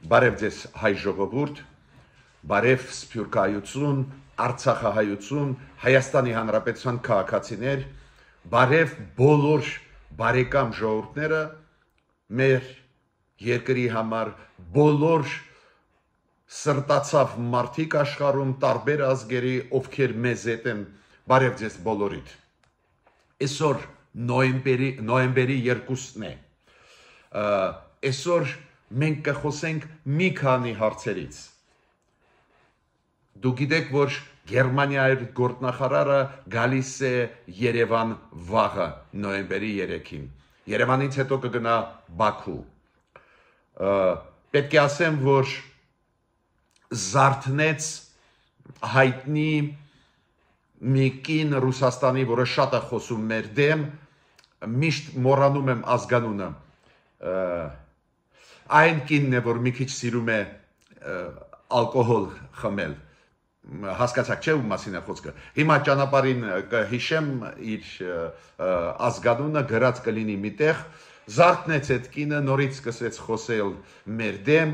Բարև ձեզ հայ ժողովուրդ, բարև սփյուռքահայություն, արցախահայություն, Հայաստանի Հանրապետության քաղաքացիներ, բարև բոլոր բարեկամ ժողովուրդները, մեր երկրի համար բոլոր սրտացավ մարդիկ աշխարհում տարբեր ազգերի, ովքեր մեզ հետ են, բարև ձեզ բոլորիդ։ Այսօր նոյեմբերի 2-ն է։ Այսօր մենք կխոսենք մի քանի հարցերից։ Դուք գիտեք, որ Գերմանիայի գործնախարարը գալիս է Երևան վաղը նոյեմբերի 3-ին։ Երևանից հետո կգնա Բաքու։ Պետք է ասեմ, որ զարթնեց հայտնի մի կին Ռուսաստանի, որը շատ է խոսում մեր դեմ, միշտ մոռանում եմ ազգանունը։ Այն կինն է, որ մի քիչ սիրում է ալկոհոլ խմել, հասկացաք չէ ում մասին է խոսքը։ Հիմա ճանապարհին կհիշեմ իր ազգանունը, գրած կլինի միտեղ, զարթնեց այդ կինը, նորից սկսեց խոսել մեր դեմ,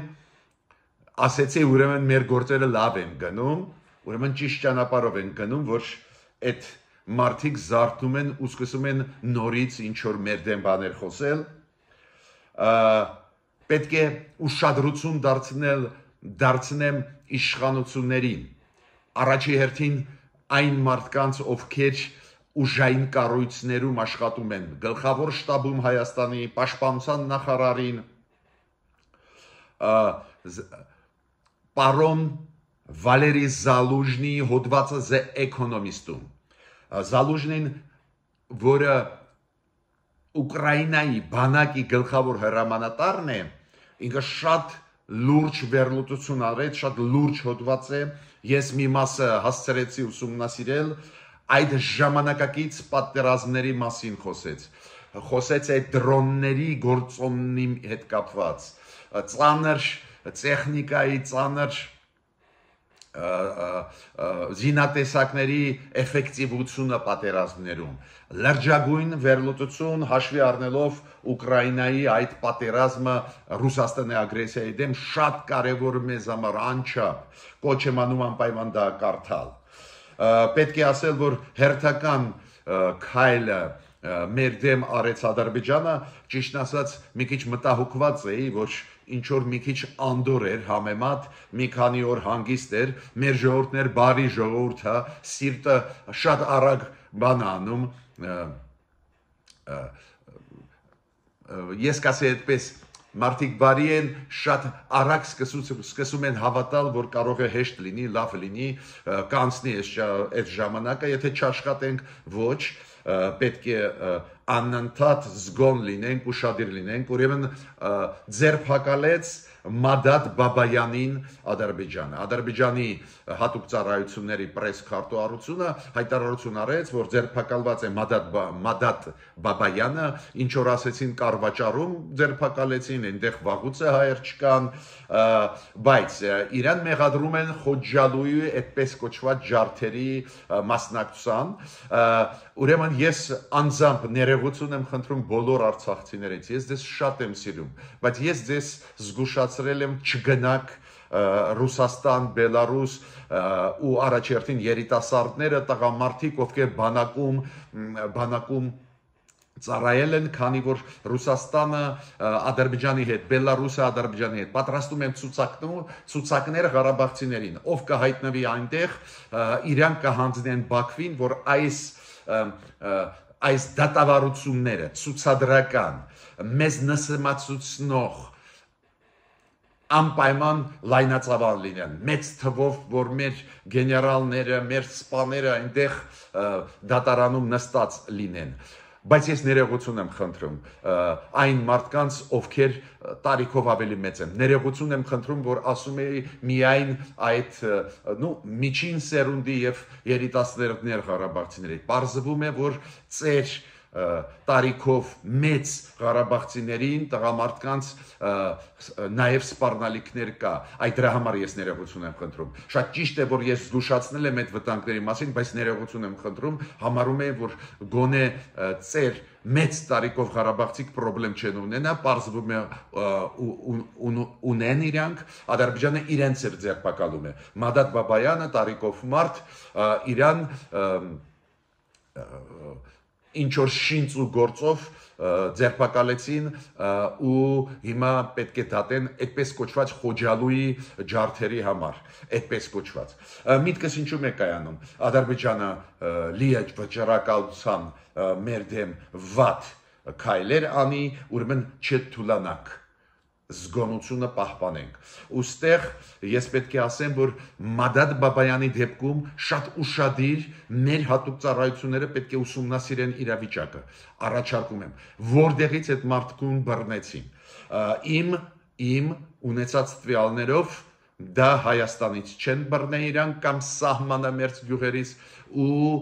ասեցի ուրեմն մեր գործերը լավ են գնում, ուրեմն ճիշտ ճանապարհով են գնում, որ այդ մարդիկ զարթնում են ու սկսում են նորից ինչ որ մեր դեմ բաներ խոսել։ Պետք է ուշադրություն դարձնեմ իշխանություններին, առաջի հերթին այն մարդկանց, ովքեր ուժային կառույցներում աշխատում են, գլխավոր շտաբում Հայաստանի, պաշտպանության նախարարին, պարոն Վալերի Զալուժնի հոդվածը The Economist-ում։ Զալուժնին, որը Ուկրաինայի բանակի գլխավոր հրամանատարն է, ինքը շատ լուրջ վերլուծություն արեց, շատ լուրջ հոդված է, ես մի մասը հասցրեցի ուսումնասիրել, այդ ժամանակակից պատերազմների մասին խոսեց այդ դրոնների գործոնի հետ կապված, ծանր տեխնիկայի, ծանր զինատեսակների էֆեկտիվությունը պատերազմներում, լրջագույն վերլուծություն հաշվի առնելով Ուկրաինայի այդ պատերազմը Ռուսաստանի ագրեսիայի դեմ շատ կարևոր մեզ համար անչափ, կոչ եմ անում անպայման դա կարդալ։ Պետք է ասել, որ հերթական քայլը մեր դեմ արեց Ադրբեջանը, ճիշտ ասած մի քիչ մտահոգված էի, որ ինչ որ մի քիչ անդոր էր համեմատ, մի քանի օր հանգիստ էր, մեր ժողովուրդներ բարի ժողովուրդ է, սիրտը շատ արագ բան անում, ես կասեի այդպես, մարդիկ բարի են, շատ արագ սկսում են հավատալ, որ կարող է հեշտ լինի, լավ լինի, կանցնի այդ ժամանակը, եթե չաշխատենք, ոչ, պետք է անընդհատ զգոն լինենք, ուշադիր լինենք, ուրեմն ձերբակալեց Մադադ Բաբայանին Ադրբեջանը։ Ադրբեջանի հատուկ ծառայությունների պրես քարտուղարությունը հայտարարություն արեց, որ ձերբակալված է Մադադ Բաբայանը, ինչ որ ասեցին կառվաճառում ձերբակալեցին, այնտեղ վաղուց է հայեր չկան, բայց իրան մեղադրում են Խոջալույի այդպես կոչված ջարդերի մասնակցության, ուրեմն ես անձամբ ներողություն եմ խնդրում բոլոր արցախցիներից, ես ձեզ շատ եմ սիրում, բայց ես ձեզ զգուշացրել եմ չգնաք Ռուսաստան, Բելարուս ու առաջերտին երիտասարդները, տղամարդիկ, ովքեր բանակում ծառայել են, քանի որ Ռուսաստանը Ադրբեջանի հետ, Բելարուսը Ադրբեջանի հետ պատրաստում են ցուցակներ ղարաբաղցիներին, ով կհայտնվի այնտեղ, իրանք կհանձնեն Բաքվին, որ այս դատավարությունները ցուցադրական, մեզ նսեմացուցնող անպայման լայնածավալ լինեն, մեծ թվով, որ մեր գեներալները, մեր սպաները այնտեղ դատարանում նստած լինեն, բայց ես ներողություն եմ խնդրում այն մարդկանց, ովքեր տարիքով ավելի մեծ են, ներողություն եմ խնդրում, որ ասում էի միայն այդ միջին սերունդի և երիտասարդներ ղարաբաղցիների, պարզվում է, որ ծեր տարիքով մեծ ղարաբաղցիներին, տղամարդկանց նաև սպառնալիքներ կա, այդ դրա համար ես ներողություն եմ խնդրում, շատ ճիշտ է, որ ես զգուշացնել եմ այդ վտանգների մասին, բայց ներողություն եմ խնդրում, համարում եմ, որ գոնե ծեր մեծ տարիքով Ղարաբաղցիք խնդրեմ չեն ունենա, պարզվում է ունեն իրանք, Ադրբեջանը իրենց էր ձերբակալում է։ Մադադ Բաբայանը տարիքով մարդ իրան ինչ որ շինծ ու գործով ձերբակալեցին ու հիմա պետք է դատեն այդպես կոչված խոջալուի ջարդերի համար, այդպես կոչված։ Միտքս ինչու է կայանում։ Ադրբեջանը լի է վճռակալության մեր դեմ վատ քայլեր անի, ուրեմն չթուլանանք, զգոնությունը պահպանենք։ Ոստեղ ես պետք է ասեմ, որ Մադադ Բաբայանի դեպքում շատ ուշադիր մեր հատուկ ծառայությունները պետք է ուսումնասիրեն իրավիճակը։ Առաջարկում եմ, որտեղից այդ մարդկուն բռնեցին։ Իմ ունեցած տվյալներով դա Հայաստանից չեն բռնել իրան կամ սահմանամերձ գյուղերից ու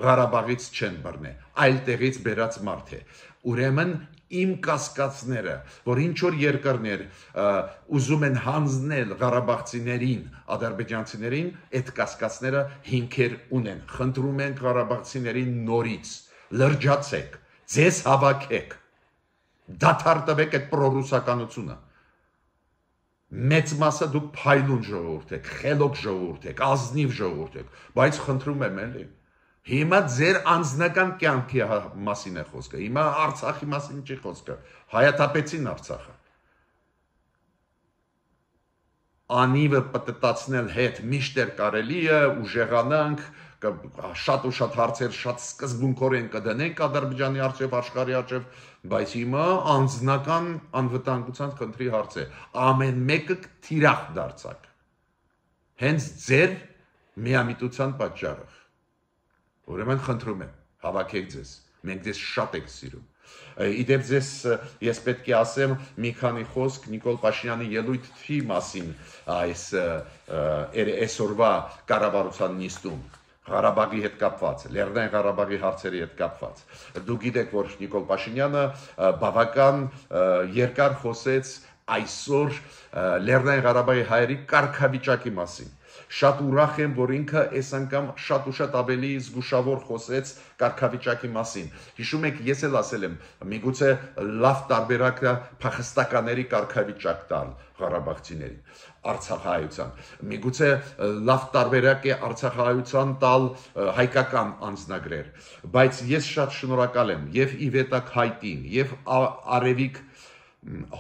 Ղարաբաղից չեն բռնել, այլ տեղից բերած մարդ է։ Ուրեմն իմ կասկածները, որ ինչ որ երկրներ ուզում են հանձնել ղարաբաղցիներին, ադրբեջանցիներին, այդ կասկածները հիմքեր ունեն։ Խնդրում ենք ղարաբաղցիներին նորից, լրջացեք, ձեզ հավաքեք, դադար տվեք այդ պրոռուսականությունը։ Մեծ մասը դուք փայլուն ժողովուրդ եք, խելոք ժողովուրդ եք, ազնիվ ժողովուրդ եք, բայց խնդրում եմ էլի։ Հիմա ձեր անձնական կյանքի մասին է խոսքը, հիմա Արցախի մասին չի խոսքը, հայաթափեցին Արցախը։ Անիվը պտտացնել հետ միշտ էր կարելի է, ուժեղանանք, շատ ու շատ հարցեր շատ սկզբունքորեն կդնենք Ադրբեջանի առջև, աշխարհի առջև, բայց հիմա անձնական անվտանգության խնդրի հարց է։ Ամեն մեկը թիրախ դարձակ։ Հենց ձեր միամիտության պատճառով։ Ուրեմն խնդրում եմ, հավաքեք ձեզ, մենք ձեզ շատ ենք սիրում։ Իդեպ ձեզ ես պետք է ասեմ մի քանի խոսք Նիկոլ Փաշինյանի ելույթի մասին այսօրվա կառավարության նիստում, Ղարաբաղի հետ կապված, Լեռնային Ղարաբաղի հարցերի հետ կապված։ Դուք գիտեք, որ Նիկոլ Փաշինյանը բավական երկար խոսեց այսօր Լեռնային Ղարաբաղի հայերի կարգավիճակի մասին։ Շատ ուրախ եմ, որ ինքը այս անգամ շատ ու շատ ավելի զգուշավոր խոսեց կարգավիճակի մասին։ Հիշում եք, ես էլ ասել եմ, միգուցե լավ տարբերակ է փախստականների կարգավիճակ տալ ղարաբաղցիներին, արցախահայության։ Միգուցե լավ տարբերակ է արցախահայության տալ հայկական անձնագրեր, բայց ես շատ շնորհակալ եմ եւ Իվետակ Հայտին, եւ Արևիկ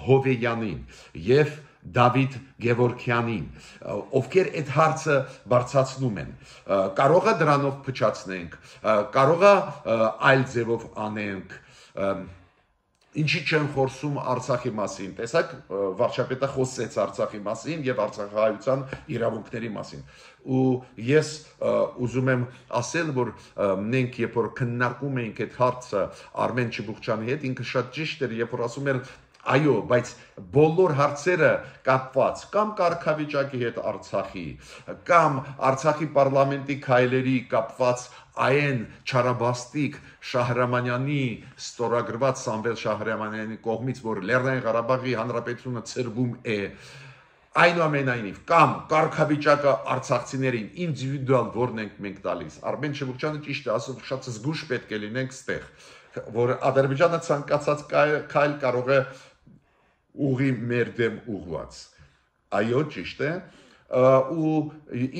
Հովեյանին, եւ Դավիթ Գևորգյանին, ովքեր այդ հարցը բարձրացնում են։ Կարող է դրանով փչացնենք, կարող է այլ ձևով անենք, ինչի չեն խոսում Արցախի մասին։ Տեսակ, վարչապետը խոսեց Արցախի մասին եւ արցախահայության իրավունքների մասին։ Ու ես ուզում եմ ասել, որ մենք երբ որ քննարկում էինք այդ հարցը Արմեն Չիբուխչյանի հետ, ինքը շատ ճիշտ էր, երբ որ ասում էր այո, բայց բոլոր հարցերը կապված կամ կարգավիճակի հետ Արցախի, կամ Արցախի պարլամենտի քայլերի կապված այն չարաբաստիկ Շահրամանյանի ստորագրված Սամվել Շահրամանյանի կողմից, որ Լեռնային Ղարաբաղի Հանրապետությունը ցրվում է, այնուամենայնիվ, կամ կարգավիճակը արցախցիներին ինդիվիդուալ որն ենք մենք տալիս։ Արմեն Չիբուխչյանը ճիշտ է ասում, շատ զգուշ պետք է լինենք ստեղ, որ Ադրբեջանը ցանկացած քայլ կարող է ուղի մեր դեմ ուղված։ Այո, ճիշտ է, ու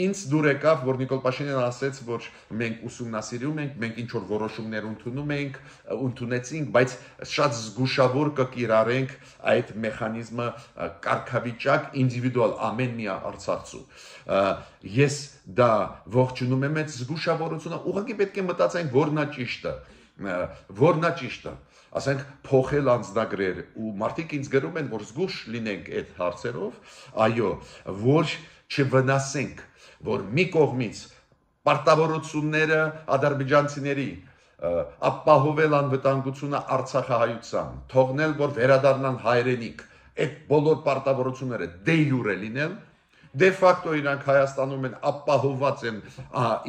ինձ դուր եկավ, որ Նիկոլ Փաշինյանը ասեց, որ մենք ուսումնասիրում ենք, մենք ինչ-որ որոշումներ ընդունեցինք, բայց շատ զգուշավոր կկիրառենք այդ մեխանիզմը կարգավիճակ ինդիվիդուալ ամեն մի արցախցու։ Ես դա ողջունում եմ այդ զգուշավորությունը, ուղղակի պետք է մտածենք, որն է ճիշտը, որն է ճիշտը։ Ասենք փոխել անձնագրեր ու մարդիկ ինձ գրում են, որ զգուշ լինենք այդ հարցերով, այո, որ չվնասենք, որ մի կողմից պարտավորությունները ադրբեջանցիների ապահովել անվտանգությունը Արցախահայության, թողնել, որ վերադառնան հայրենիք, այդ բոլոր պարտավորությունները դե յուրե լինել, դե ֆակտո իրանք Հայաստանում են ապահոված են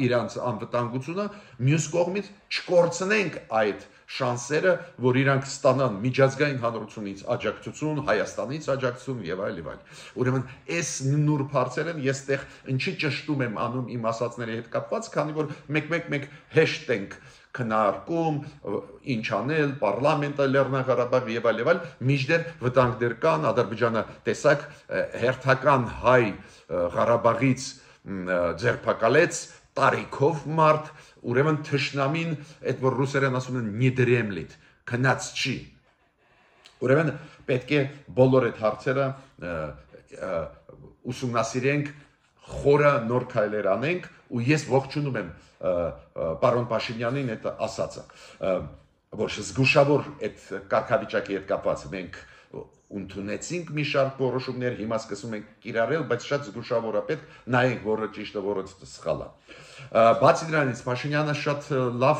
իրանց անվտանգությունը, մյուս կողմից չկորցնենք այդ շանսերը, որ իրանք ստանան միջազգային հանրությունից աջակցություն, Հայաստանից աջակցություն եւ այլ եւ այլ։ Ուրեմն այս նուրբ հարցեր են, ես այդտեղ ինչի ճշտում եմ անում իմ ասածների հետ կապված, քանի որ մեկ հեշտ ենք քննարկում, ինչ անել, պարլամենտը Լեռնային Ղարաբաղ եւ այլ, միջդեռ վտանգներ կան, Ադրբեջանը տեսակ հերթական հայ Ղարաբաղից ձերբակալեց տարիքով մարդ, ուրեմն թշնամին, այդ որ ռուսերեն ասում են նիդրեմլիտ, քնած չի։ Ուրեմն պետք է բոլոր այդ հարցերը ուսումնասիրենք, խորը նոր քայլեր անենք, ու ես ողջունում եմ պարոն Փաշինյանին այդ ասածը, որ զգուշավոր այդ կարգավիճակի հետ կապված մենք ընդունեցինք մի շարք որոշումներ, հիմա սկսում ենք կիրառել, բայց շատ զգուշավորապես նայենք, որը ճիշտ է, որը սխալ է։ Բացի դրանից Փաշինյանը շատ լավ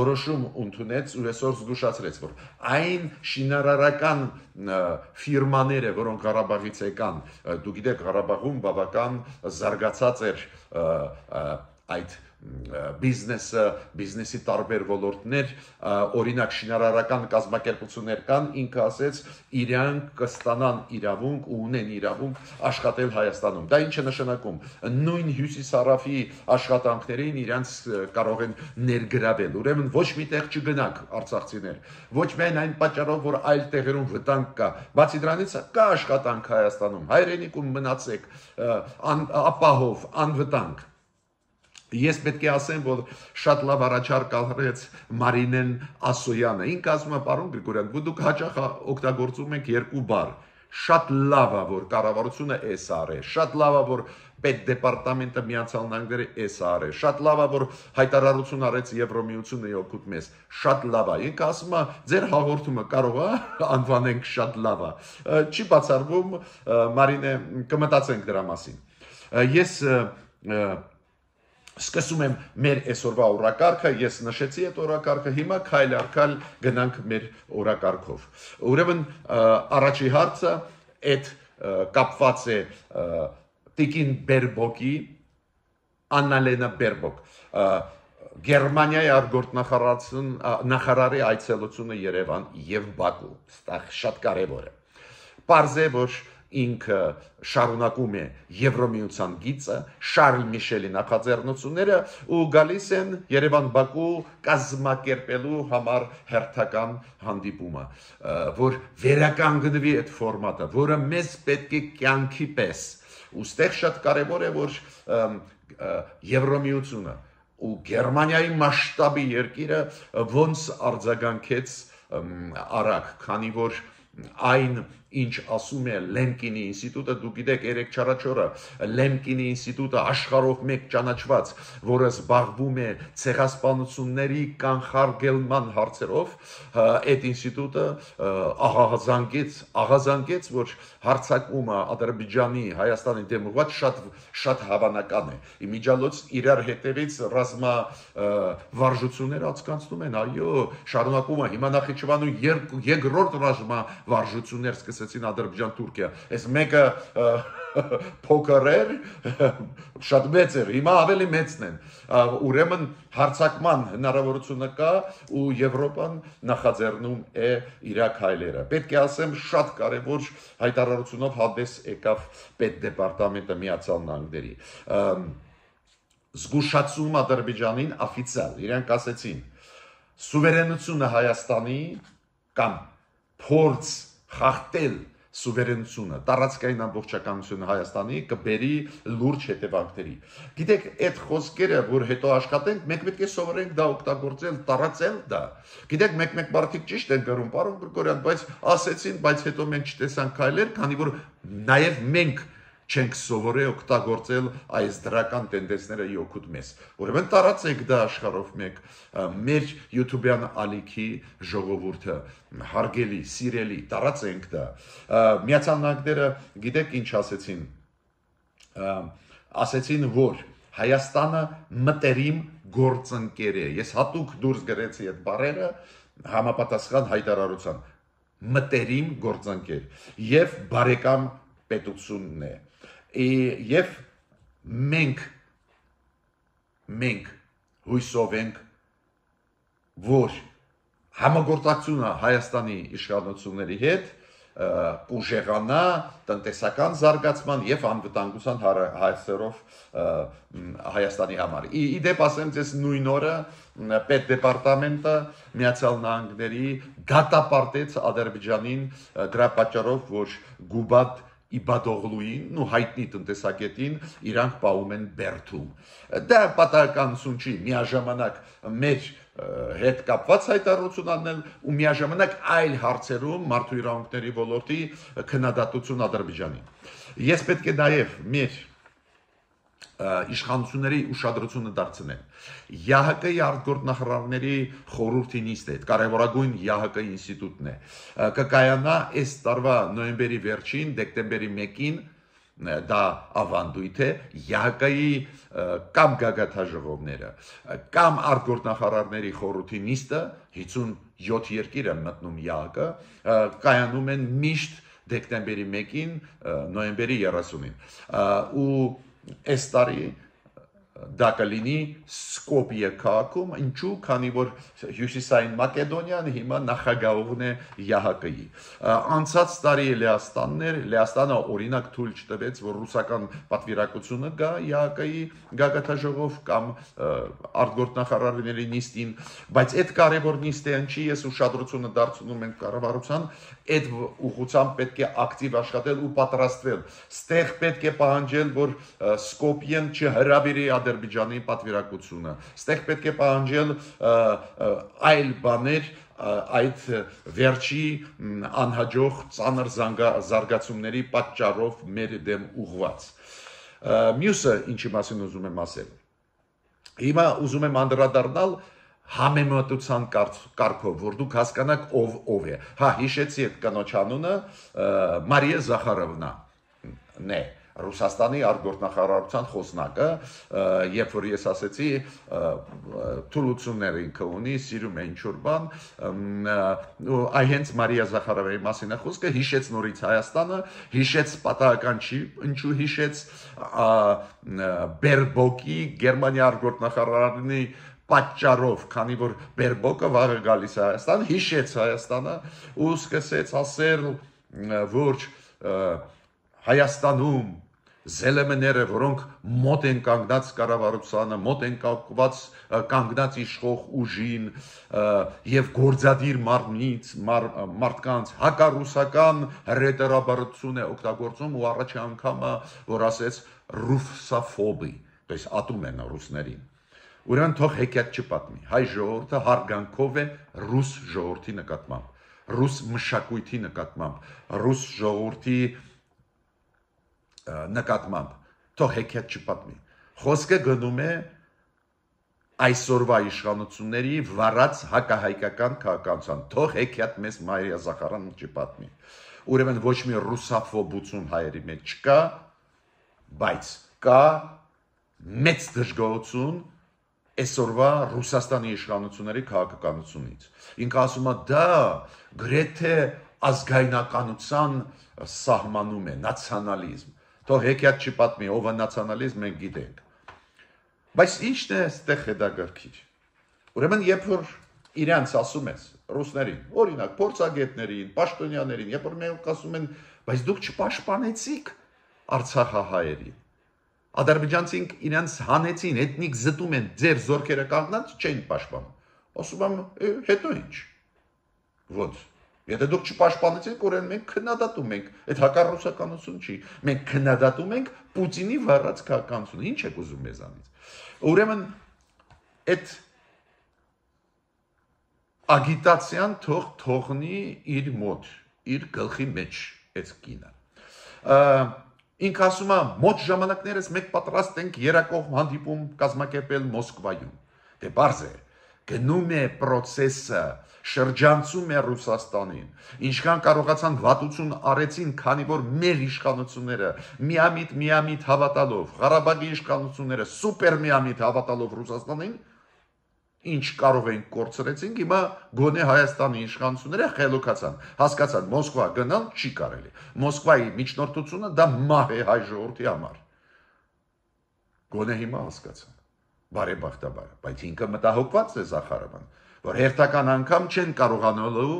որոշում ընդունեց ու այսօր զգուշացրեց, որ այն շինարարական ֆիրմաները, որոնք Ղարաբաղից եկան, դու գիտեք, Ղարաբաղում բավական զարգացած էր այդ բիզնեսի տարբեր ոլորտներ, օրինակ շինարարական կազմակերպություններ կան, ինքը ասեց, իրանք կստանան իրավունք ու ունեն իրավունք աշխատել Հայաստանում։ Դա ինչ է նշանակում։ Նույն հյուսիսարավի աշխատանքներին իրանց կարող են ներգրավել։ Ուրեմն ոչ միտեղ չգնաք արցախցիներ։ Ոչ միայն այն պատճառով, որ այլ տեղերում վտանգ կա, բացի դրանից կա աշխատանք Հայաստանում։ Հայրենիքում մնացեք ապահով, անվտանգ։ Ես պետք է ասեմ, որ շատ լավ առաջարկ արեց Մարինեն Ասոյանը։ Ինքը ասում է, պարոն Գրիգորյան, դուք հաճախ օգտագործում եք երկու բառ։ Շատ լավ է, որ կառավարությունը էս արե, շատ լավ է, որ պետդեպարտամենտը Միացյալ Նահանգները էս արե, շատ լավ է, որ հայտարարություն արեց Եվրոմիությունը օգուտ մեզ։ Շատ լավ է։ Ինքը ասում է, ձեր հաղորդումը կարող է անվանենք շատ լավ է։ Չի բացառվում, Մարինե, կմտածենք դրա մասին։ Ես սկսում եմ մեր այսօրվա օրակարգը, ես նշեցի այդ օրակարգը, հիմա քայլ առ քայլ գնանք մեր օրակարգով։ Ուրեմն առաջի հարցը այդ կապված է Տիկին Բերբոկի, Աննալենա Բերբոկ, Գերմանիայի արտգործնախարարի այցելությունը Երևան եւ Բաքու, դա շատ կարեւոր է։ Պարզ է, որ ինքը շարունակում է Եվրոմիության գիծը, Շարլ Միշելի նախաձեռնությունները ու գալիս են Երևան-Բաքու կազմակերպելու համար հերթական հանդիպումը, որ վերականգնվի այդ ֆորմատը, որը մեզ պետք է կյանքի պես։ Ուստեղ շատ կարևոր է, որ Եվրոմիությունը ու Գերմանիայի մասշտաբի երկիրը ոնց արձագանքեց արագ, քանի որ այն ինչ ասում է Լեմկինի ինստիտուտը, դու գիտեք, երեք չառաջորը Լեմկինի ինստիտուտը աշխարհով մեկ ճանաչված, որը զբաղվում է ցեղասպանությունների կանխարգելման հարցերով, այդ ինստիտուտը աղազանգեց, որ հարձակումը Ադրբեջանի, Հայաստանի դեմ ուղղված շատ հավանական է։ Իմիջիալոց իրար հետևից ռազմա վարժություններ անցկացնում են, այո, շարունակումը հիմա Նախիջևանում երկրորդ ռազմա վարժություններ սկսեցին Ադրբեջան-Թուրքիա։ Այս մեկը փոքր էր, շատ մեծ էր, հիմա ավելի մեծն են։ Ուրեմն հարձակման հնարավորությունը կա ու Եվրոպան նախաձեռնում է իր քայլերը։ Պետք է ասեմ, շատ կարևոր հայտարարությունով հանդես եկավ պետդեպարտամենտը Միացյալ Նահանգների։ Զգուշացում Ադրբեջանին օֆիցիալ, իրենք ասեցին, սուվերենությունը Հայաստանի կամ փորձ խախտել սուվերենությունը, տարածքային ամբողջականությունը Հայաստանի կբերի լուրջ հետևանքների։ Գիտեք, այդ խոսքերը, որ հետո աշխատենք, մենք պետք է սովորենք դա օգտագործել, տարածել դա։ Գիտեք, մեկ-մեկ մարդիկ ճիշտ են գրում, պարոն Գրիգորյան, բայց ասեցին, բայց հետո մենք չտեսանք քայլեր, քանի որ նաև մենք չենք սովորել օգտագործել այս դրական տենդենսները օգուտ մեզ։ Ուրեմն տարածեք դա աշխարհով մեկ, մեր YouTube-յան ալիքի ժողովուրդը, հարգելի, սիրելի, տարածենք դա։ Միացյալ Նահանգները գիտեք ինչ ասեցին։ Ասեցին, որ Հայաստանը մտերիմ գործընկեր է։ Ես հատուկ դուրս գրեցի այդ բառերը համապատասխան հայտարարության։ Մտերիմ գործընկեր եւ բարեկամ պետությունն է։ Եվ մենք հույսով ենք, որ համագործակցությունը Հայաստանի իշխանությունների հետ ուժեղանա տնտեսական զարգացման եւ անվտանգության հարցերով Հայաստանի համար։ Իդեպ ասեմ ձեզ նույն օրը պետդեպարտամենտը Միացյալ Նահանգների դատապարտեց Ադրբեջանին դրա պատճառով, որ Գուբադ Իբադօղլուին ու հայտնի տնտեսագետին իրանք պահում են Բերդում։ Դա պատահականություն չի, միաժամանակ մեր հետ կապված հայտարարություն անել ու միաժամանակ այլ հարցերում մարդու իրավունքների ոլորտի քննադատություն Ադրբեջանին։ Ես պետք է նաև մեր իշխանությունների ուշադրությունը դարձնեմ։ ՀՀԿ-ի արտգործնախարարների խորհրդի նիստը, կարևորագույն ՀՀԿ ինստիտուտն է, կկայանա այս տարվա նոյեմբերի վերջին, դեկտեմբերի 1-ին դա ավանդույթ է ՀՀԿ-ի կամ գագաթաժողովները կամ արտգործնախարարների խորհրդի նիստը 57 երկիր են մտնում ՀՀԿ կայանում են միշտ դեկտեմբերի 1-ին նոյեմբերի 30-ին ու այս տարի դա կլինի Սկոպիե քաղաքում, ինչու, քանի որ Հյուսիսային Մակեդոնիան հիմա նախագահողն է ՀՀԿ-ի։ Անցած տարի Լեհաստանը օրինակ թույլ չտվեց, որ ռուսական պատվիրակությունը գա ՀՀԿ-ի գագաթաժողով կամ արտգործնախարարների նիստին, բայց այդ կարևոր նիստը ինչի ես ուշադրությունը դարձնում եմ կառավարության, այդ ուղղությամբ պետք է ակտիվ աշխատել ու պատրաստվել։ Ստեղ պետք է պահանջել, որ Սկոպիեն չհրավիրի Ադրբեջանի պատվիրակությունը։ Ստեղ պետք է պահանջել այլ բաներ այդ վերջի անհաջող ծանր զարգացումների պատճառով մեր դեմ ուղղված։ Մյուսը ինչի մասին ուզում եմ ասել։ Հիմա ուզում եմ անդրադառնալ համեմատության կարգով, որ դուք հասկանաք ով է։ Հա, հիշեցի այդ կնոջ անունը Մարիա Զախարովնան է։ Ռուսաստանի արտգործնախարարության խոսնակը, երբ որ ես ասեցի թուլություններ ինքը ունի, սիրում է ինչ-որ բան, այ հենց Մարիա Զախարովայի մասին է խոսքը, հիշեց նորից Հայաստանը, հիշեց պատահական չի, ինչու հիշեց Բերբոկի Գերմանիա արտգործնախարարանի պատճառով, քանի որ Բերբոկը վաղը գալիս է Հայաստան, հիշեց Հայաստանը ու սկսեց ասել, որ Հայաստանում զելեմները, որոնք մոտ են կանգնած կառավարությանը, մոտ են կանգնած իշխող ուժին եւ գործադիր մարդկանց հակառուսական հրետորաբարություն է օգտագործում ու առաջի անգամը որ ասեց ռուսաֆոբի, այսպես ատում են ռուսներին։ Ուրեմն թող հեքիաթ չպատմի։ Հայ ժողովուրդը հարգանքով է ռուս ժողովրդի նկատմամբ, ռուս մշակույթի նկատմամբ, ռուս ժողովրդի նկատմամբ, թող հեքիաթ չպատմի։ Խոսքը գնում է այսօրվա իշխանությունների վարած հակահայկական քաղաքականության, թող հեքիաթ մեզ Մարիա Զախարովնան չպատմի։ Ուրեմն ոչ մի ռուսաֆոբություն հայերի մեջ չկա, բայց կա մեծ դժգոհություն այսօրվա Ռուսաստանի իշխանությունների քաղաքականությունից։ Ինքը ասում է դա գրեթե ազգայնականության սահմանում է, նացիոնալիզմ։ Թող հեքիաթ չպատմի, ով է նացիոնալիզմ, մենք գիտենք։ Բայց ի՞նչն է այստեղ հետաքրքիր։ Ուրեմն երբ որ իրանց ասում ես ռուսներին, օրինակ փորձագետներին, պաշտոնյաներին, երբ որ մենք ասում են, բայց դուք չպաշտպանեցիք Արցախահայերին։ Ադրբեջանցին իրանց հանեցին, էթնիկ զտում են, ձեր զորքերը կանգնած չեն պաշտպանում։ Ասում եմ, հետո ինչ։ Ոնց։ Եթե դուք չպաշտպանեցիք, ուրեմն մենք քննադատում ենք, այդ հակառուսականություն չի։ Մենք քննադատում ենք Պուտինի վարած քաղաքականությունը։ Ինչ եք ուզում մեզանից։ Ուրեմն այդ ագիտացիան թողնի իր մոտ, իր գլխի մեջ այդ կինը։ Ինքը ասում է, մոտ ժամանակներս մենք պատրաստ ենք երակող հանդիպում կազմակերպել Մոսկվայում։ Դե բարձ է, գնում է process-ը, շրջանցում է Ռուսաստանին, ինչքան կարողացան վատություն արեցին, քանի որ մեր իշխանությունները միամիտ հավատալով, Ղարաբաղի իշխանությունները սուպեր միամիտ հավատալով Ռուսաստանին, ինչ կարող էին կորցրեցին, հիմա գոնե Հայաստանի իշխանությունները խելոքացան, հասկացան, Մոսկվա գնալ չի կարելի։ Մոսկվայի միջնորդությունը դա մահ է հայ ժողովրդի համար։ Գոնե հիմա հասկացան։ Բարեբախտաբար, բայց ինքը մտահոգված է Զախարովան, որ հերթական անգամ չեն կարողանալու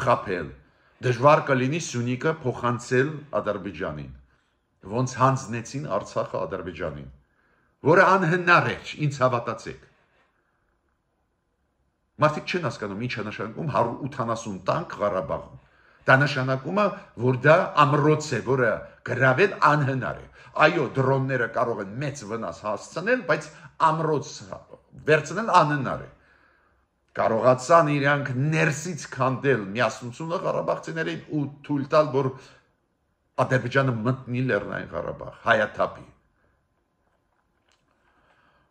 խաբել Դժվար կլինի Սյունիքը փոխանցել Ադրբեջանին, ոնց հանձնեցին Արցախը Ադրբեջանին, որը անհնար էր, ինձ հավատացեք։ Մարդիկ չեն հասկանում ինչ է նշանակում 180 տանկ Ղարաբաղում։ Դա նշանակում է, որ դա ամրոց է, որը գրավել անհնար է։ Այո, դրոնները կարող են մեծ վնաս հասցնել, բայց ամրոց վերցնել անհնար է։ Կարողացան իրանք ներսից քանդել միասնությունը Ղարաբաղցիներին ու թույլ տալ, որ Ադրբեջանը մտնի Լեռնային Ղարաբաղ, հայաթափի։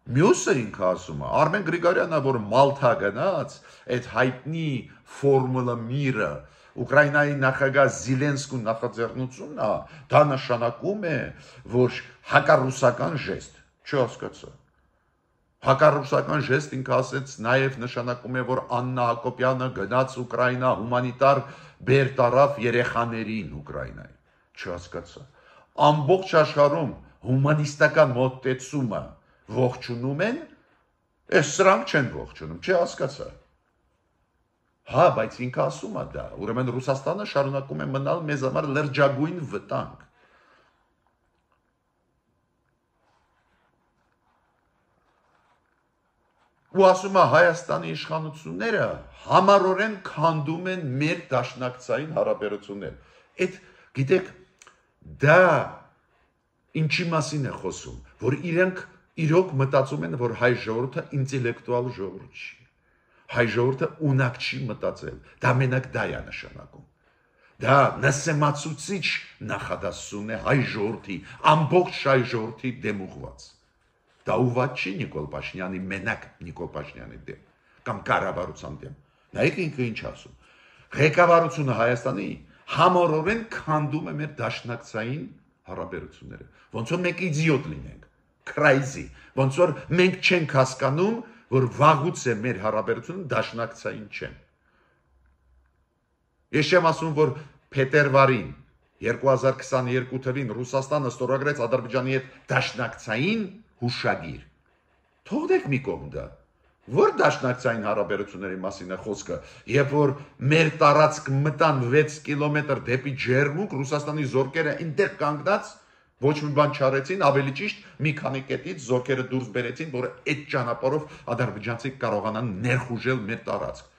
Մյուսը ինքը ասում է, Արմեն Գրիգորյանը, որ Մալթա գնաց, այդ հայտնի ֆորմուլա միրը, Ուկրաինայի նախագահ Զելենսկու նախաձեռնությունն է, դա նշանակում է, որ հակառուսական ժեստ, չհասկացա։ Հակառուսական ժեստ ինքը ասեց նաև նշանակում է, որ Աննա Հակոբյանը գնաց Ուկրաինա հումանիտար բեր տարավ երեխաներին Ուկրաինայի, չհասկացա։ Ամբողջ աշխարհում հումանիստական մոտեցումը ողջունում են, այս սրանք չեն ողջունում, չհասկացա։ Հա, բայց ինքը ասում է դա, ուրեմն Ռուսաստանը շարունակում է մնալ մեզ համար լրջագույն վտանգ։ Ու ասում է Հայաստանի իշխանությունները համառորեն քանդում են մեր դաշնակցային հարաբերություններ։ Այդ գիտեք, դա ինչի մասին է խոսում, որ իրենք իրոք մտածում են, որ հայ ժողովուրդը ինտելեկտուալ ժողովուրդ չի։ Հայ ժողովուրդը ունակ չի մտածել, դա մենակ դա է նշանակում։ Դա նսեմացուցիչ նախադասություն է հայ ժողովրդի, ամբողջ հայ ժողովրդի դեմ ուղղված։ Դա ուղղված չի Նիկոլ Փաշինյանի մենակ Նիկոլ Փաշինյանի դեմ, կամ կառավարության դեմ։ Նայեք ինքը ինչ ասում։ Ղեկավարությունը Հայաստանի համառորեն քանդում է մեր դաշնակցային հարաբերությունները։ Ոնց որ մենք իդիոտ լինենք, crazy, ոնց որ մենք չենք հասկանում, որ վաղուց է մեր հարաբերությունը դաշնակցային չեն։ Ես չեմ ասում, որ փետրվարին 2022 թվականին Ռուսաստանը ստորագրեց Ադրբեջանի հետ դաշնակցային հուշագիր։ Թողնեք մի կողմ դա։ Որ դաշնակցային հարաբերությունների մասին է խոսքը, երբ որ մեր տարածք մտան 6 կիլոմետր դեպի ջերմուկ, Ռուսաստանի զորքերը այնտեղ կանգնած ոչ մի բան չարեցին, ավելի ճիշտ մի քանի կետից զորքերը դուրս բերեցին, որ այդ ճանապարհով ադրբեջանցիք կարողանան ներխուժել մեր տարածք։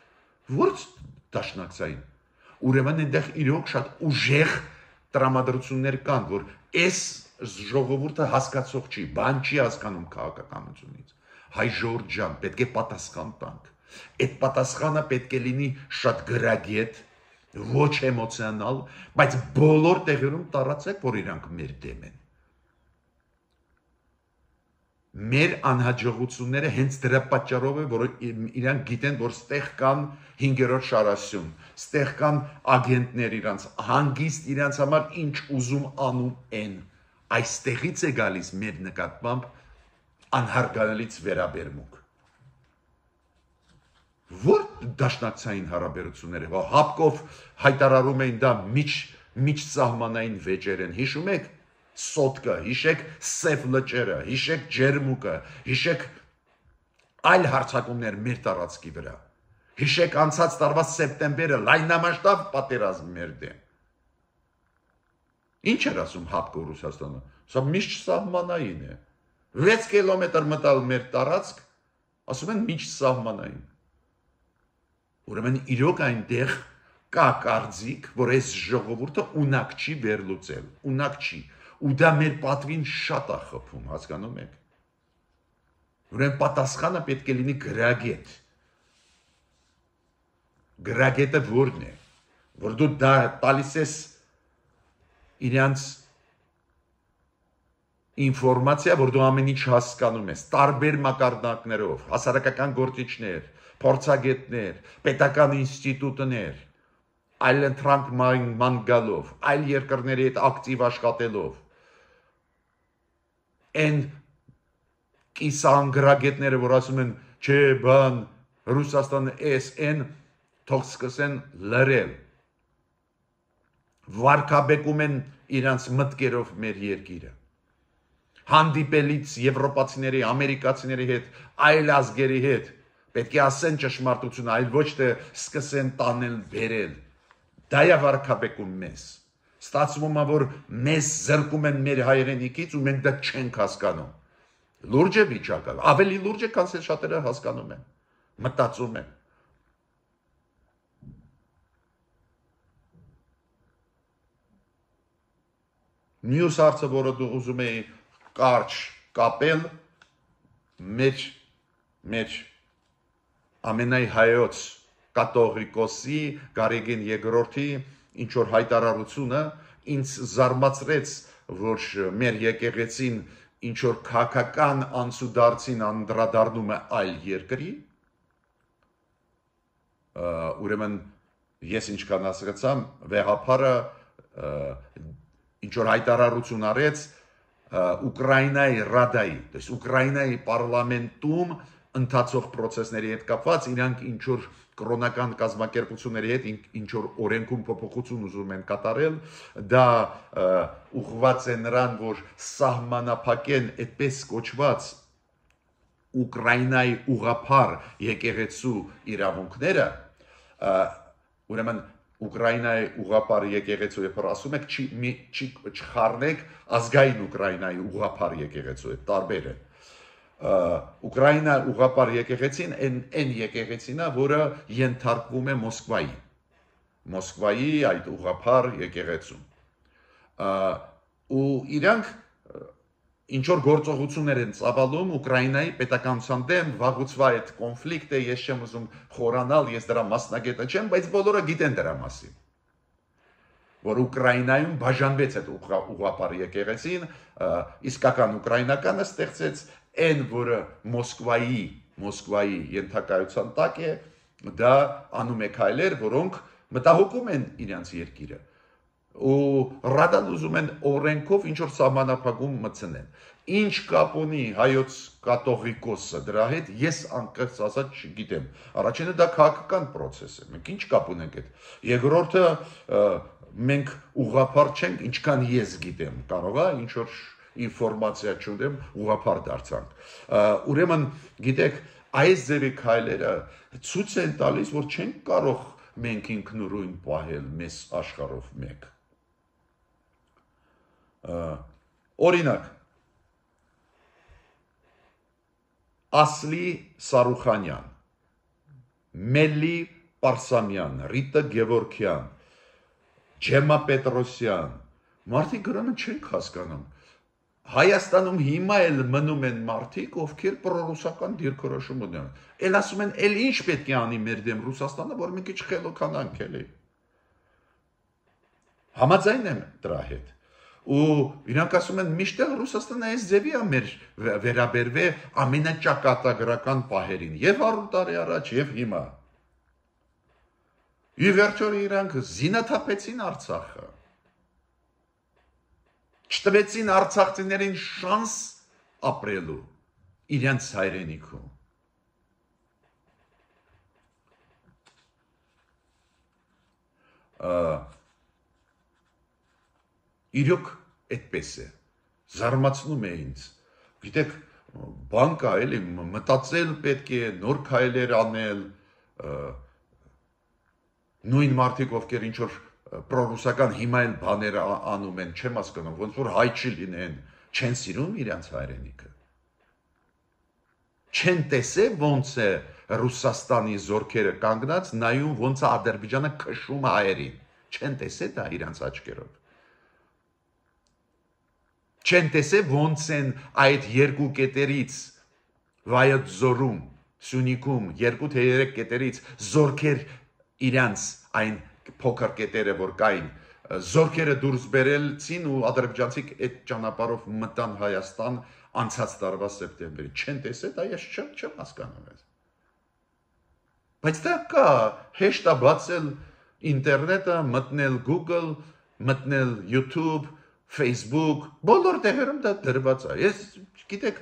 Որ դաշնակցային։ Ուրեմն այնտեղ իրոք շատ ուժեղ տրամադրություններ կան, որ այս ժողովուրդը հասկացող չի, բան չի հասկանում քաղաքականությունից։ Հայ ժողովուրդ ջան, պետք է պատասխան տանք։ Այդ պատասխանը պետք է լինի շատ գրագետ, ոչ էմոցիոնալ, բայց բոլոր տեղերում տարածեք, որ իրանք մեր դեմ են։ Մեր անհաջողությունները հենց դրա պատճառով է, որ իրանք գիտեն, որ ստեղ կան 5-րդ շարասյուն, ստեղ կան ագենտներ իրանց, հանգիստ իրանց համար ինչ ուզում անում են։ Այստեղից է գալիս մեր նկատմամբ անհարգալից վերաբերմունք։ Որ դաշնակցային հարաբերությունները, որ Հապկով հայտարարում էին դա միջսահմանային վեճեր են, հիշում եք Սոտկը, հիշեք Սև լճերը, հիշեք Ջերմուկը, հիշեք այլ հարձակումներ մեր տարածքի վրա, հիշեք անցած տարվա սեպտեմբերը լայնամասշտաբ պատերազմ մեր դեմ։ Ինչ էր ասում Հապկը Ռուսաստանը, սա միջսահմանային է, 6 կիլոմետր մտալ մեր տարածք, ասում են միջսահմանային։ Ուրեմն իրոք այնտեղ կա կարծիք, որ այս ժողովուրդը ունակ չի վերլուծել, ունակ չի, ու դա մեր պատվին շատ է խփում, հասկանում եք։ Ուրեմն պատասխանը պետք է լինի գրագետ։ Գրագետը որն է, որ դու դա տալիս ես իրանց ինֆորմացիա, որ դու ամեն ինչ հասկանում ես, տարբեր մակարդակներով, հասարակական գործիչներ, փորձագետներ, պետական ինստիտուտներ, այլ ընտրանք ման գալով, այլ երկրների հետ ակտիվ աշխատելով, այն կիսանգրագետները, որ ասում են, չէ, բան, Ռուսաստանը էն, թող սկսեն լրել, վարկաբեկում են իրանց մտքերով մեր երկիրը, հանդիպելից եվրոպացիների, ամերիկացիների հետ, այլ ազգերի հետ, պետք է ասեն ճշմարտությունը, այլ ոչ թե սկսեն տանել բերել, Դա է վարքաբեկում մեզ։ Ստացվում է, որ մեզ զրկում են մեր հայրենիքից ու մենք դա չենք հասկանում։ Լուրջ է վիճակը, ավելի լուրջ է, քան շատերը հասկանում են, մտածում են։ Մյուս հարցը, որը դու ուզում էի կարճ կապել, մեր ամենայ հայոց կաթողիկոսի Գարեգին II-ի ինչ որ հայտարարությունը ինձ զարմացրեց, որ մեր եկեղեցին ինչ որ քաղաքական անցուդարձին անդրադառնում է այլ երկրի, ուրեմն ես ինչքան հասկացամ, վեղափարը ինչ որ հայտարարություն արեց Ուկրաինայի Ռադայի, то есть Ուկրաինայի պարլամենտում ընթացող process-ների հետ կապված իրանք ինչ որ կրոնական կազմակերպությունների հետ ինչ որ օրենքում փոփոխություն ուզում են կատարել, դա ուղղված է նրան, որ սահմանափակեն այդպես կոչված Ուկրաինայի ուղղափառ եկեղեցու իրավունքները, ուրեմն Ուկրաինայի ուղղափառ եկեղեցու երբ ասում եք չխառնեք ազգային Ուկրաինայի ուղղափառ եկեղեցու, այդ տարբեր է։ Ուկրաինա ուղղափառ եկեղեցին այն եկեղեցին է, որը ենթարկվում է Մոսկվայի այդ ուղղափառ եկեղեցուն։ Ու իրանք ինչ որ գործողություններ են ծավալում Ուկրաինայի պետականության դեմ, վաղուց այդ կոնֆլիկտը, ես չեմ ուզում խորանալ, ես դրա մասնագետը չեմ, բայց բոլորը գիտեն դրա մասին։ Որ Ուկրաինայում բաժանվեց այդ ուղղափառ եկեղեցին, իսկական ուկրաինականը ստեղծեց այն, որը Մոսկվայի ենթակայության տակ է, դա անում է քայլեր, որոնք մտահոգում են իրենց երկիրը։ Ու Ռադան ուզում են օրենքով ինչ որ սահմանափակում մտցնեն։ Ինչ կապ ունի հայոց կաթողիկոսը դրա հետ, ես անկեղծ ասած չգիտեմ։ Առաջինը դա քաղաքական process է։ Մենք ինչ կապ ունենք այդ։ Երկրորդը մենք ուղղափառ չենք, ինչքան ես գիտեմ։ Կարող է ինչ որ ինֆորմացիա չունեմ, ուղղափառ դարձանք։ Ուրեմն, գիտեք, այս ձևի քայլերը ցույց են տալիս, որ չենք կարող մենք ինքնուրույն պահել մեզ աշխարհով մեկ։ Օրինակ, Ասլի Սարուխանյան, Մելի Պարսամյան, Ռիտա Գևորգյան, Ջեմա Պետրոսյան, մարդիկ գրանը չենք հասկանում։ Հայաստանում հիմա էլ մնում են մարդիկ, ովքեր պրոռուսական դիրքորոշում ունեն։ Էլ ասում են, էլ ինչ պետք է անի մեր դեմ Ռուսաստանը, որ մենք չխելոքանանք էլի։ Համաձայն եմ դրա հետ։ Ու իրանք ասում են, միշտ Ռուսաստանը այս ձևի է մեր վերաբերվել ամենաճակատագրական պահերին, եւ 100 տարի առաջ, եւ հիմա։ Ի վերջո իրանք զինաթափեցին Արցախը։ Չտվեցին արցախցիներին շանս ապրելու իրենց հայրենիքում։ Իրոք այդպես է, զարմացնում է ինձ, գիտեք, բան կա էլի, մտածել պետք է, նոր քայլեր անել, նույն մարդիկ, ովքեր ինչ որ պրոռուսական հիմա էլ բաներ անում են, չեմ հասկանում, ոնց որ հայ չլինեն, չեն սիրում իրենց հայրենիքը։ Չեն տեսել ոնց է Ռուսաստանի զորքերը կանգնած, նայում ոնց է Ադրբեջանը քշում հայերին, չեն տեսել դա իրենց աչքերով։ Չեն տեսել ոնց են այդ երկու կետերից Վայոց ձորում, Սյունիքում, 2-3 կետերից զորքեր իրենց այն փոքր կետերը, որ կային, զորքերը դուրս բերելցին ու ադրբեջանցիք այդ ճանապարհով մտան Հայաստան անցած տարվա սեպտեմբերի։ Չեն տեսել, դա ես չեմ հասկանում ես։ Բայց դա կա, հեշտ է բացել ինտերնետը, մտնել Google, մտնել YouTube, Facebook, բոլոր տեղերում դա դրված է։ Ես գիտեք,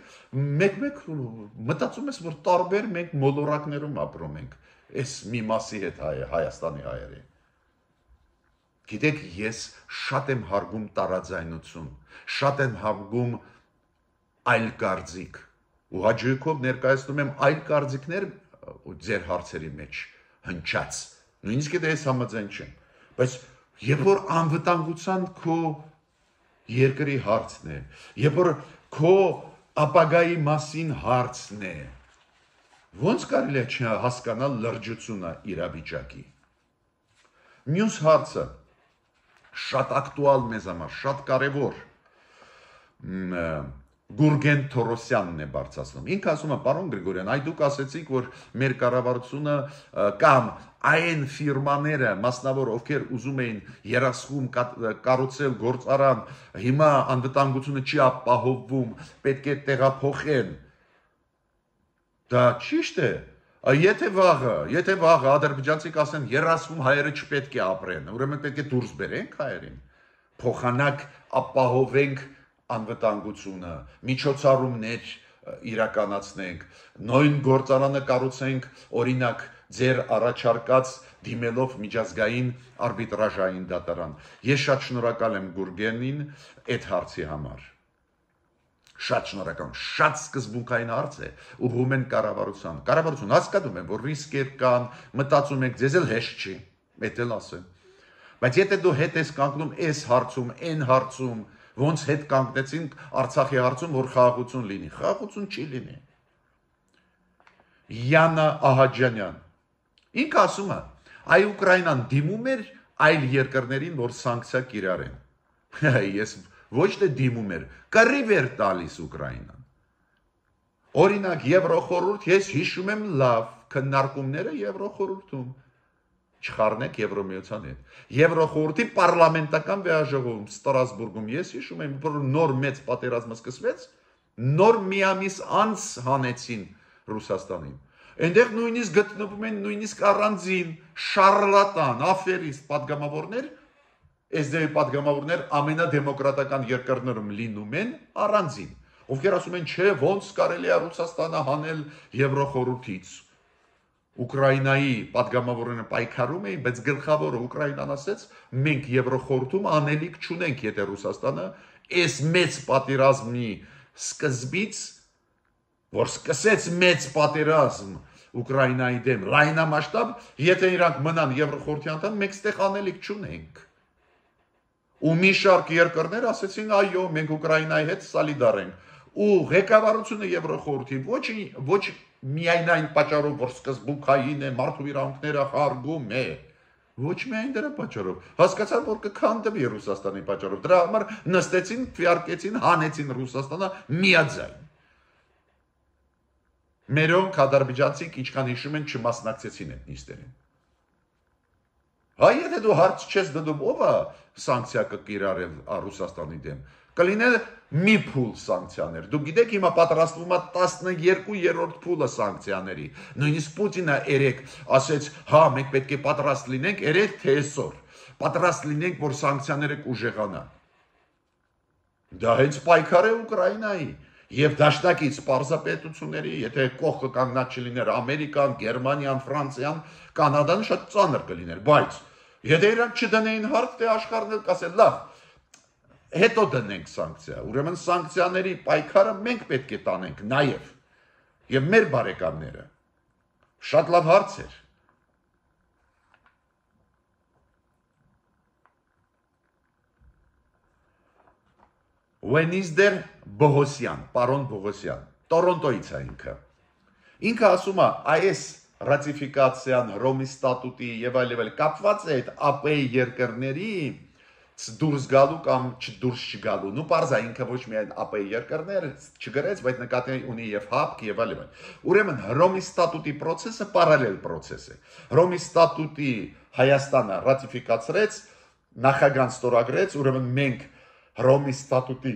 մեկ մտածում ես, որ տարբեր մենք մոլորակներում ապրում ենք, այս մի մասի հետ Հայաստանի հայերի։ Գիտեք, ես շատ եմ հարգում տարաձայնություն, շատ եմ հարգում այլ կարծիք, ու հաճույքով ներկայացնում եմ այլ կարծիքներ ձեր հարցերի մեջ հնչած, նույնիսկ եթե ես համաձայն չեմ, Բայց երբ որ անվտանգության քո երկրի հարցն է, երբ որ քո ապագայի մասին հարցն է, ոնց կարելի է չհասկանալ լրջությունը իրավիճակի։ Մյուս հարցը շատ ակտուալ մեզ համար, շատ կարևոր, Գուրգեն Թորոսյանն է բարձրացնում։ Ինքը ասում է, պարոն Գրիգորյան, այ դուք ասեցիք, որ մեր կառավարությունը կամ այն ֆիրմաները, մասնավոր ովքեր ուզում էին երասխում կառուցել գործարան, հիմա անվտանգությունը չի ապահովվում, պետք է տեղափոխեն։ Դա ճիշտ է։ Եթե վաղը ադրբեջանցիք ասեն, երասխում հայերը չպետք է ապրեն, ուրեմն պետք է դուրս բերենք հայերին, փոխանակ ապահովենք անվտանգությունը, միջոցառումներ իրականացնենք, նույն գործարանը կառուցենք, օրինակ, ձեր առաջարկած դիմելով միջազգային արբիտրաժային դատարան։ Ես շատ շնորհակալ եմ Գուրգենին այդ հարցի համար։ Շատ շնորհակալ, շատ սկզբունքային հարց է, ուղղում են կառավարության։ Կառավարություն հասկանում եմ, որ ռիսկեր կան, մտածում եք, ձեզ էլ հեշտ չի, այդ էլ ասեմ։ Բայց եթե դու հետ ես կանգնում այս հարցում, այն հարցում, ոնց հետ կանգնեցինք Արցախի հարցում, որ խաղաղություն լինի, խաղաղություն չի լինի։ Յանա Ահաջանյան, ինքը ասում է, այ Ուկրաինան դիմում էր այլ երկրներին, որ սանկցիա կիրառեն։ Ես ոչ թե դիմում էր, կռիվ էր տալիս Ուկրաինան։ Օրինակ Եվրոխորհուրդ, ես հիշում եմ լավ քննարկումները Եվրոխորհրդում, չխառնեք Եվրոմիության հետ։ Եվրոխորհրդի պարլամենտական վեաժողովում Ստրասբուրգում ես հիշում եմ, որ նոր մեծ պատերազմը սկսվեց, նոր մի ամիս անց հանեցին Ռուսաստանին։ Այնտեղ նույնիսկ գտնվում են նույնիսկ առանձին շարլատան, աֆերիստ պատգամավորներ, SDV պատգամավորներ ամենադեմոկրատական երկրներում լինում են առանձին, ովքեր ասում են, չէ, ոնց կարելի է Ռուսաստանը հանել Եվրոխորհրդից։ Ուկրաինայի պատգամավորները պայքարում էին, բայց գլխավորը Ուկրաինան ասեց, մենք Եվրոխորհրդում անելիք չունենք, եթե Ռուսաստանը այս մեծ պատերազմի սկզբից, որ սկսեց մեծ պատերազմ Ուկրաինայի դեմ, լայնամասշտաբ, եթե իրանք մնան Եվրոխորհրդի անդամ, մենք ստեղ անելիք չունենք։ Ու մի շարք երկրներ ասեցին, այո, մենք Ուկրաինայի հետ սոլիդար ենք։ Ու ղեկավարությունը Եվրոխորհրդի ոչ միայն այն պատճառով, որ սկզբունքային է, մարդու իրավունքները խախտում է, ոչ միայն դրա պատճառով, հասկացան, որ կքանդվի Ռուսաստանի պատճառով, դրա համար նստեցին, քվեարկեցին, հանեցին Ռուսաստանը միաձայն։ Մերոնք ադրբեջանցիք, ինչքան հիշում են, չմասնակցեցին այդ նիստերին։ Հայ եթե դու հարց չես դնում, ով է սանկցիա կկիրառել Ռուսաստանի դեմ, կլինել մի փուլ սանկցիաներ։ Դու գիտեք, հիմա պատրաստվում է 12-րդ փուլը սանկցիաների։ Նույնիսկ Պուտինը երեք ասեց, հա, մենք պետք է պատրաստ լինենք, երեք թե այսօր, պատրաստ լինենք, որ սանկցիաները կուժեղանան։ Դա հենց պայքար է Ուկրաինայի եւ դաշնակից պարզապետությունների, եթե կողքը կանգնած չլիներ Ամերիկան, Գերմանիան, Ֆրանսիան, Կանադան շատ ծանր կլիներ, բայց եթե իրանք չդնեին հարց, թե աշխարհն էլ կասեր, լավ, հետո դնենք սանկցիա, ուրեմն սանկցիաների պայքարը մենք պետք է տանենք նաեւ եւ մեր բարեկամները։ Շատ լավ հարց էր։ Վենիզդեր Բողոսյան, պարոն Բողոսյան, Տորոնտոից է ինքը։ Ինքը ասում է, այս ռատիֆիկացիան Հռոմի ստատուտի եւ այլ կապված է այդ ԱՊ երկրների դուրս գալու կամ չդուրս չգալու։ Նու parza ինքը ոչ միայն ԱՊ երկրներ չգրեց, բայց նկատի ունի եւ ՀԱՊԿ եւ այլ։ Ուրեմն Հռոմի ստատուտի process-ը պարալել process է։ Հռոմի ստատուտի Հայաստանը ռատիֆիկացրեց, նախագահան ստորագրեց, ուրեմն մենք Հռոմի ստատուտի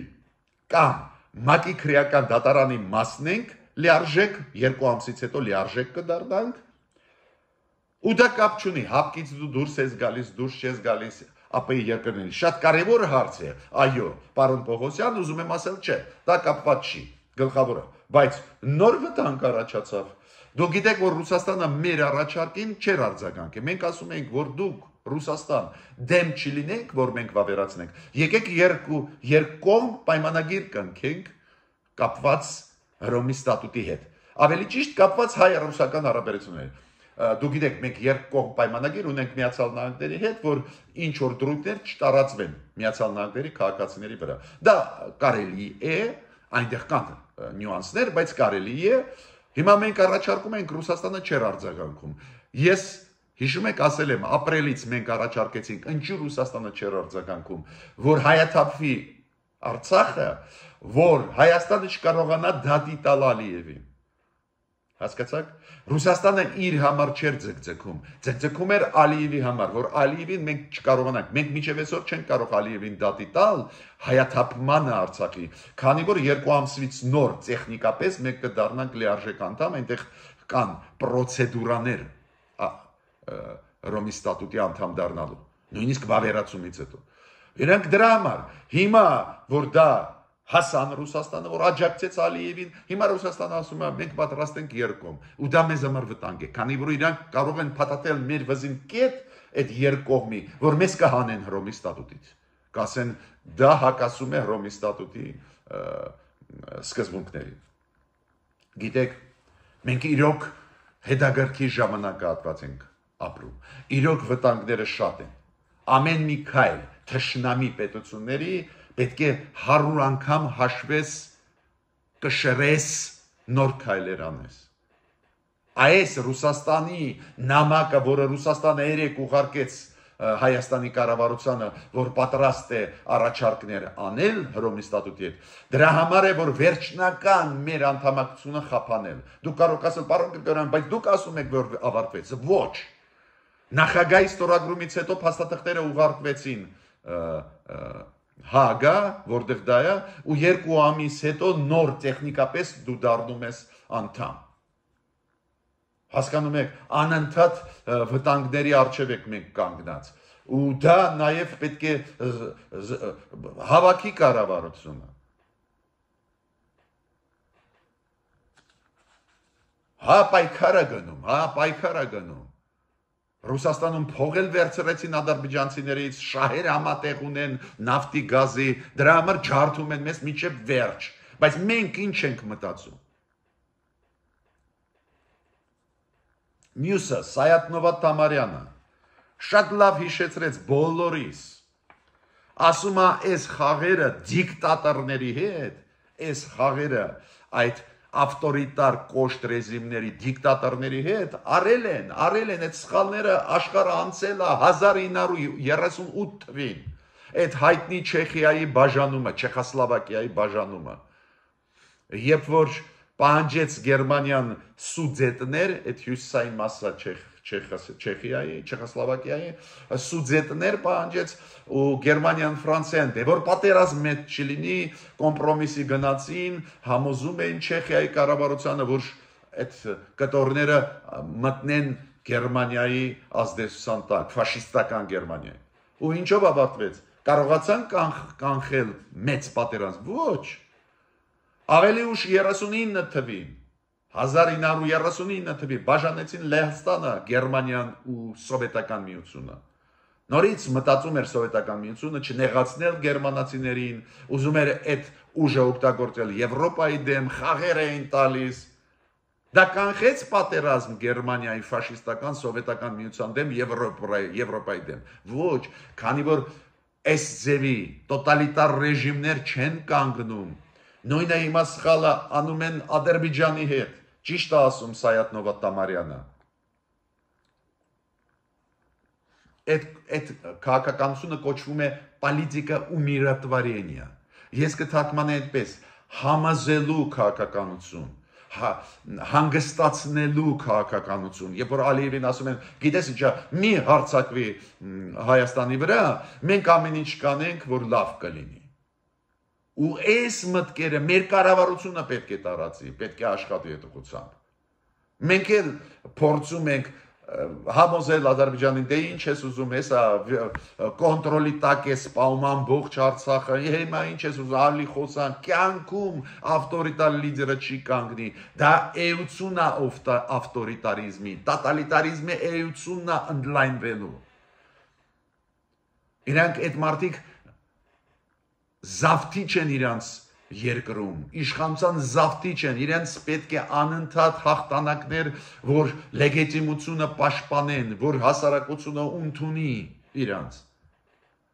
կամ ՄԱԿ-ի քրեական դատարանի մասն ենք, լիարժեք 2 ամսից հետո լիարժեք կդառնանք։ Ու դա կապ չունի, ՀԱՊԿ-ից դու դուրս ես գալիս, դուրս չես գալիս ԱՊ երկրների։ Շատ կարևոր հարց է։ Այո, պարոն Պողոսյան, ուզում եմ ասել, չէ, դա կապված չի, գլխավորը, բայց նոր վտանգ առաջացավ։ Դու գիտեք, որ Ռուսաստանը մեր առաջարկին չէր արձագանքի։ Մենք ասում ենք, որ դուք Ռուսաստան դեմ չլինենք, որ մենք վավերացնենք։ Եկեք երկկողմ պայմանագիր կնքենք կապված Հռոմի ստատուտի հետ։ Ավելի ճիշտ կապված հայ-ռուսական հարաբերություններ։ դու գիտեք, մենք երկկողմ պայմանագիր ունենք Միացյալ Նահանգների հետ, որ ինչ որ դրույթներ չտարածվեն Միացյալ Նահանգների քաղաքացիների վրա։ Դա կարելի է, այնտեղ կան նյուանսներ, բայց կարելի է։ Հիմա մենք առաջարկում ենք, Ռուսաստանը չէր արձագանքում։ Ես հիշում եք, ասել եմ, ապրիլից մենք առաջարկեցինք, ինչու Ռուսաստանը չէր արձագանքում, որ հայաթափվի Արցախը, որ Հայաստանը չկարողանա դատի տալ Ալիևին։ Հասկացաք։ Ռուսաստանը իր համար չէր ձգձգում, ձգձգում էր Ալիևի համար, որ Ալիևին մենք չկարողանանք, մենք մինչև այսօր չենք կարող Ալիևին դատի տալ հայաթափմանը Արցախի, քանի որ 2 ամսից նոր տեխնիկապես մենք կդառնանք լիարժեք անդամ, այնտեղ կան պրոցեդուրաներ Ռոմի ստատուտի անդամ դառնալու, նույնիսկ վավերացումից հետո։ Իրանք դրա համար հիմա որ դա հասան Ռուսաստանը, որ աջակցեց Ալիևին, հիմա Ռուսաստանը ասում է մենք պատրաստ ենք երկկողմ, ու դա մեզ համար վտանգ է, քանի որ իրանք կարող են փաթաթել մեր վզին կետ այդ երկկողմի, որ մեզ կհանեն Հռոմի ստատուտից, կասեն դա հակասում է Հռոմի ստատուտի սկզբունքներին։ Գիտեք, մենք իրոք հետագրքի ժամանակահատված ենք ապրում, իրոք վտանգները շատ են, ամեն մի քայլ թշնամի պետությունների պետք է 100 անգամ հաշվես, կշռես, նոր քայլեր անես։ Այս Ռուսաստանի նամակը, որը Ռուսաստանը երեք ուղարկեց Հայաստանի կառավարությանը, որ պատրաստ է առաջարկներ անել Հռոմի ստատուտի հետ, դրա համար է, որ վերջնական մեր անդամակցությունը խափանել։ Դուք կարող ասել, պարոն Գրիգորյան, բայց դուք ասում եք, որ ավարտվեց։ Ոչ։ Նախագահի ստորագրումից հետո փաստաթղթերը ուղարկվեցին Հագա, որտեղ դա է, ու 2 ամիս հետո նոր տեխնիկապես դու դառնում ես անդամ։ Հասկանում եք, անընդհատ վտանգների առջև եք մենք կանգնած։ Ու դա նաև պետք է հավաքի կառավարությունը։ Պայքարը գնում։ Ռուսաստանում փողել վերցրեցին ադրբեջանցիներից, շահեր համատեղ ունեն նավթի գազի, դրա համար ջարդում են մեզ մինչև վերջ, բայց մենք ինչ ենք մտածում։ Մյուսը, Սայաթ-Նովա Թամարյանը, շատ լավ հիշեցրեց բոլորիս, ասում է, այս խաղերը դիկտատորների հետ, այս խաղերը այդ ավտորիտար կոշտ ռեժիմների դիկտատորների հետ արել են այդ սխալները աշխարհը անցել է 1938 թվին այդ հայտնի Չեխիայի բաժանումը, Չեխոսլովակիայի բաժանումը, երբ որ պահանջեց Գերմանիան սուդետներ, այդ հյուսիսային մասը Չեխիայի, Չեխոսլովակիայի սուդետներ պահանջեց ու Գերմանիան Ֆրանսիան, դե որ պատերազմ մեծ չլինի, կոմպրոմիսի գնացին, համոզում էին Չեխիայի կառավարությանը, որ այդ կտորները մտնեն Գերմանիայի ազդեցության տակ, ֆաշիստական Գերմանիայի։ Ու ինչով ավարտվեց։ Կարողացան կանխել մեծ պատերազմ։ Ոչ։ Ավելի ուշ 39 թվին 1939 թվին բաժանեցին Լեհաստանը, Գերմանիան ու Սովետական միությունը։ Նորից մտածում էր Սովետական միությունը չնեղացնել գերմանացիներին, ուզում էր այդ ուժը օգտագործել Եվրոպայի դեմ, խաղեր էին տալիս։ Դա կանխեց պատերազմ Գերմանիայի ֆաշիստական Սովետական միության դեմ, Եվրոպայի դեմ։ Ոչ, քանի որ այս ձևի տոտալիտար ռեժիմներ չեն կանգնում։ Նույնը հիմա սխալը անում են Ադրբեջանի հետ։ Ճիշտ է ասում Սայաթ-Նովա Թամարյանը։ Այդ քաղաքականությունը կոչվում է պոլիտիկա ումիրատվարենիա։ Ես կթարգմանեմ այդպես. համազելու քաղաքականություն, հանգստացնելու քաղաքականություն։ Երբ որ Ալիևին ասում են, գիտես ինչա, մի հարձակվի Հայաստանի վրա, մենք ամեն ինչ կանենք, որ լավ կլինի։ Ու այս մտքերը մեր կառավարությունը պետք է տարածի, պետք է աշխատի այդ ուղղությամբ։ Մենք էլ փորձում ենք համոզել Ադրբեջանին, դե ինչ ես ուզում, հեսա կոնտրոլի տակ է սպանում ամբողջ Արցախը, հիմա ինչ ես ուզում, ալի խոսան, կյանքում ավտորիտար լիդերը չի կանգնի, դա էությունն է ավտորիտարիզմի, տոտալիտարիզմի էությունն է ընդլայնվելու։ Իրանք այդ մարդիկ զավթիչ են իրանց երկրում, իշխանության զավթիչ են, իրենց պետք է անընդհատ հաղթանակներ, որ լեգիտիմությունը պաշտպանեն, որ հասարակությունը ընդունի իրանց։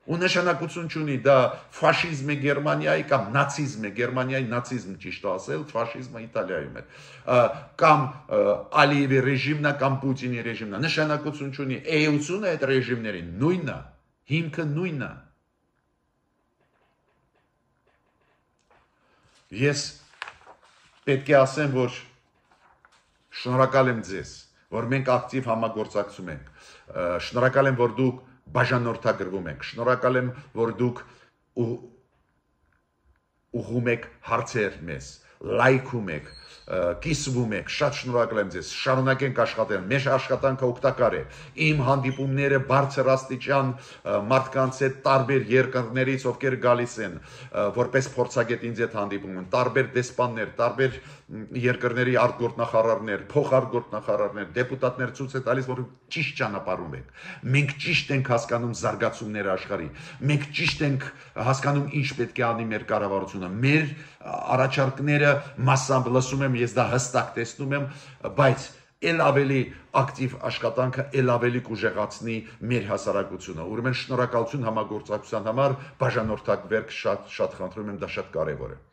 Ու նշանակություն չունի, դա ֆաշիզմ է Գերմանիայի կամ նացիզմ է, Գերմանիայի նացիզմ ճիշտ ասել, ֆաշիզմը Իտալիայում է, կամ Ալիևի ռեժիմն է, կամ Պուտինի ռեժիմն է, նշանակություն չունի, էությունը այդ ռեժիմներին նույնն է, հիմքը նույնն է։ Ես պետք է ասեմ, որ շնորհակալ եմ ձեզ, որ մենք ակտիվ համագործակցում ենք, շնորհակալ եմ, որ դուք բաժանորդագրվում եք, շնորհակալ եմ, որ դուք ուղղում եք հարցեր մեզ, լայքում եք, կիսվում եք, շատ շնորհակալ եմ ձեզ, շարունակենք աշխատել, մեր աշխատանքը օգտակար է, իմ հանդիպումները բարձր աստիճան մարդկանց հետ տարբեր երկրներից, ովքեր գալիս են, որպես փորձագետ ինձ հետ հանդիպում են, տարբեր դեսպաններ, տարբեր երկրների արտգործնախարարներ, փոխարտգործնախարարներ, դեպուտատներ ցույց է տալիս, որ ճիշտ ճանապարհում եք։ Մենք ճիշտ ենք հասկանում զարգացումները աշխարհի։ Մենք ճիշտ ենք հասկանում ինչ պետք է անի մեր կառավարությունը։ Մեր առաջարկները մասամբ լսում եմ, ես դա հստակ տեսնում եմ, բայց ել ավելի ակտիվ աշխատանքը ել ավելի կուժեղացնի մեր հասարակությունը։ Ուրեմն շնորհակալություն համագործակցության համար, բաժանորդագրվեք, շատ խնդրում եմ, դա շատ կարևոր է։